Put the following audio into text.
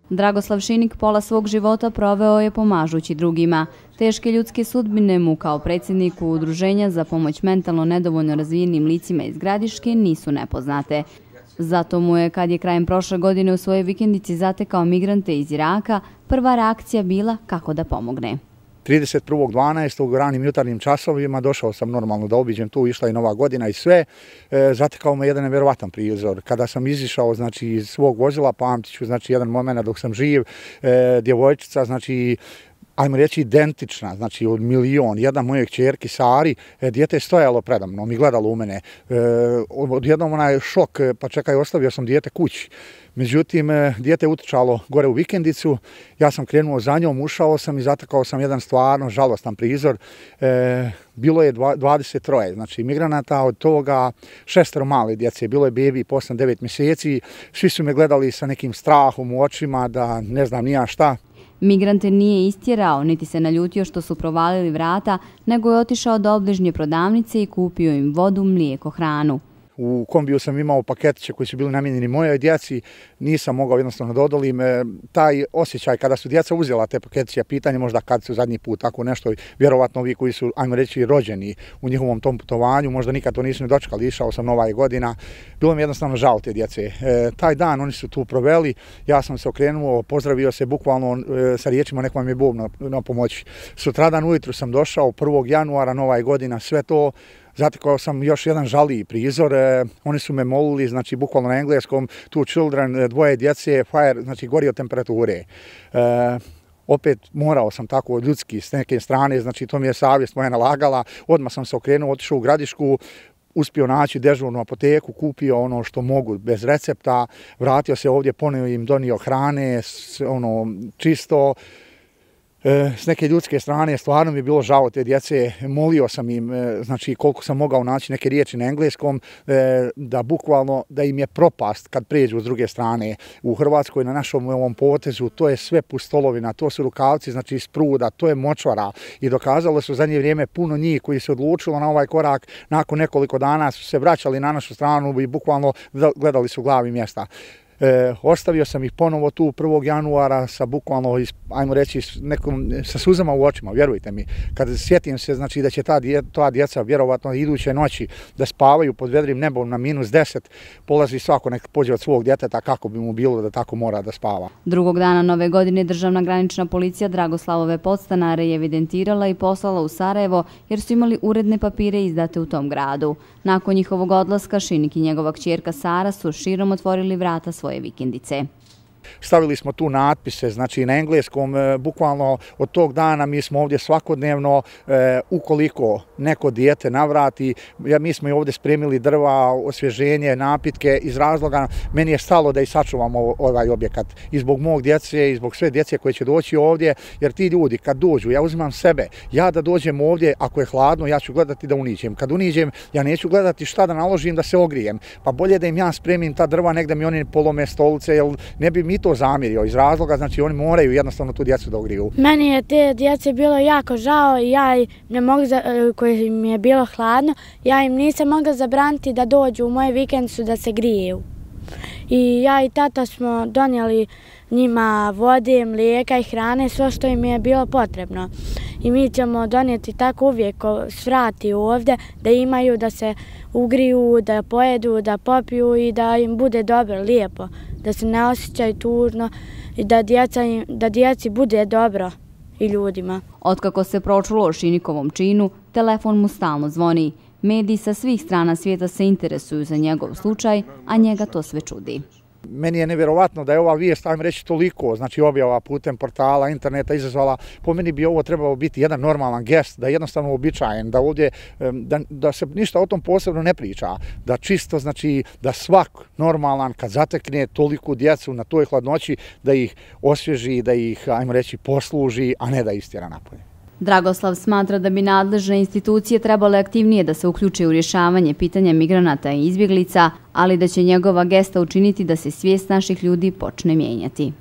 Dragoslav Šinik pola svog života proveo je pomažući drugima. Teške ljudske sudbine mu kao predsjedniku Udruženja za pomoć mentalno nedovoljno razvijenim licima iz Gradiške nisu nepoznate. Zato mu je, kad je krajem prošle godine u svojoj vikendici zatekao migrante iz Iraka, prva reakcija bila kako da pomogne. 31.12. u ranim jutarnjim časovima došao sam normalno da obiđem tu, išla je Nova godina i sve. Zatekao me jedan nevjerovatan prizor. Kada sam izišao iz svog vozila, pamtit ću jedan moment dok sam živ, djevojčica, ajmo reći identična, od milion, jedna moje kćerki Sari, dijete je stojalo predamnom i gledalo u mene. Odjednom onaj šok, pa čekaj, ostavio sam dijete kući. Međutim, dijete je utrčalo gore u vikendicu, ja sam krenuo za njom, ušao sam i zatekao sam jedan stvarno žalostan prizor. Bilo je 23, migranata, od toga 6 male djece, bilo je bebi po 8-9 mjeseci, svi su me gledali sa nekim strahom u očima da ne znam ni ja šta. Migrante nije istjerao, niti se naljutio što su provalili vrata, nego je otišao do obližnje prodavnice i kupio im vodu, mlijeko, hranu. U kombiju sam imao paketiće koji su bili namijenjeni mojoj djeci, nisam mogao jednostavno da odolim. Taj osjećaj kada su djeca uzela te paketiće, pitanje možda kad su zadnji put tako nešto, vjerovatno ovi koji su, ajmo reći, rođeni u njihovom tom putovanju, možda nikad to nisu ni dočekali, išao sam Nova godina, bilo mi jednostavno žao te djece. Taj dan oni su tu proveli, ja sam se okrenuo, pozdravio se bukvalno sa riječima nek vam je Bog na pomoći. Sutradan ujutru sam došao, 1. januara, Nova godina, sve to. Zatekao sam još jedan žaliji prizor, oni su me molili, bukvalno na engleskom, two children, dvoje djece, fire, gori od temperature. Opet morao sam tako ljudski s neke strane, to mi je savjest moja nalagala, odmah sam se okrenuo, otišao u Gradišku, uspio naći dežurnu apoteku, kupio ono što mogu bez recepta, vratio se ovdje, ponovo im donio hrane, čisto. S neke ljudske strane stvarno mi je bilo žao te djece, molio sam im, koliko sam mogao naći neke riječi na engleskom, da bukvalno da im je propast kad pređu s druge strane. U Hrvatskoj na našom ovom potezu to je sve pustolovina, to su rukavci iz pruda, to je močvara i dokazalo su zadnje vrijeme puno njih koji se odlučilo na ovaj korak, nakon nekoliko dana su se vraćali na našu stranu i bukvalno gledali su glavi mjesta. Ostavio sam ih ponovo tu 1. januara sa bukvalno, ajmo reći, sa suzama u očima, vjerujte mi. Kad sjetim se da će ta djeca vjerovatno iduće noći da spavaju pod vedrim nebom na -10, polazi svako nek pođe od svog djeteta kako bi mu bilo da tako mora da spava. Drugog dana Nove godine državna granična policija Dragoslavove podstanare je evidentirala i poslala u Sarajevo jer su imali uredne papire izdate u tom gradu. Nakon njihovog odlaska Šinik i njegova kćerka Sara su širom otvorili vrata svoje vikendice. Stavili smo tu natpise, na engleskom, bukvalno od tog dana mi smo ovdje svakodnevno, ukoliko neko dijete navrati, mi smo i ovdje spremili drva, osvježenje, napitke, iz razloga meni je stalo da i sačuvamo ovaj objekat i zbog mog djece i zbog sve djece koje će doći ovdje, jer ti ljudi kad dođu, ja uzimam sebe, ja da dođem ovdje, ako je hladno, ja ću gledati da uniđem. Kad uniđem, ja neću gledati šta da naložim da se ogrijem, pa bolje da im ja spremim ta drva, nek da mi oni polome stolice, jer ne bi mi to zamjerio iz razloga, oni moraju jednostavno tu djecu da ogriju. Meni je te djece bilo jako žao i ja ne mogu, koje im je bilo hladno, ja im nisam mogla zabraniti da dođu u moju vikendicu da se griju. I ja i tata smo donijeli njima vode, mlijeka i hrane, sve što im je bilo potrebno. I mi ćemo donijeti tako uvijek svrati ovdje da imaju, da se ugriju, da pojedu, da popiju i da im bude dobro, lijepo, da se ne osjećaju tužno i da djeci bude dobro i ljudima. Otkako se pročulo o Šinikovom činu, telefon mu stalno zvoni. Mediji sa svih strana svijeta se interesuju za njegov slučaj, a njega to sve čudi. Meni je nevjerovatno da je ova vijest, ajmo reći, toliko, objava putem portala, interneta izazvala. Po meni bi ovo trebalo biti jedan normalan gest, da je jednostavno uobičajen, da ovdje, da se ništa o tom posebno ne priča, da čisto, da svak normalan kad zatekne toliku djecu na toj hladnoći, da ih osvježi, da ih, ajmo reći, posluži, a ne da istjera napolje. Dragoslav smatra da bi nadležne institucije trebale aktivnije da se uključe u rješavanje pitanja migranata i izbjeglica, ali da će njegova gesta učiniti da se svijest naših ljudi počne mijenjati.